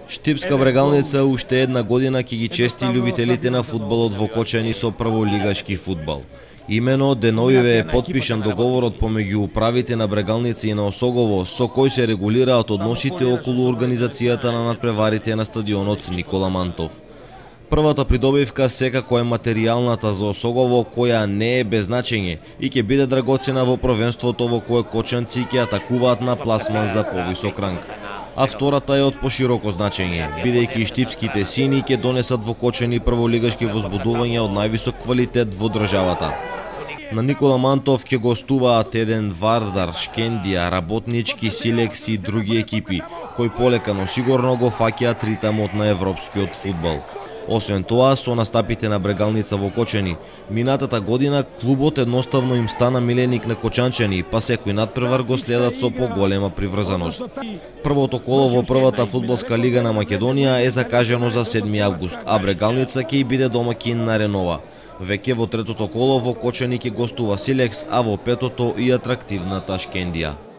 Штипска Брегалница уште една година ќе ги чести љубителите на фудбалот во Кочани со прволигашки фудбал. Имено деновиве е потпишан договорот помеѓу управите на Брегалница и на Осогово, со кој се регулираат односите околу организацијата на надпреварите на стадионот Никола Мантов. Првата придобивка секако е материјалната за Осогово, која не е без значење и ќе биде драгоцена во првенството во кое кочанци ќе атакуваат на пласман за повисок ранг. А втората е од пошироко значење, бидејќи штипските сини ќе донесат во Кочани прволигашки возбудувања од највисок квалитет во државата. На Никола Мантов ќе гостуваат еден Вардар, Шкендија, Работнички, Силекс и други екипи, кои полека но сигурно го фаќаат ритамот на европскиот фудбал. Освен тоа, со настапите на Брегалница во Кочани, минатата година клубот едноставно им стана миленик на кочанчани, па секој надпревар го следат со поголема приврзаност. Првото коло во првата фудбалска лига на Македонија е закажано за 7 август, а Брегалница ќе биде домаќин на Ренова. Веќе во третото коло во Кочани ќе гостува Силекс, а во петото и атрактивната Шкендија.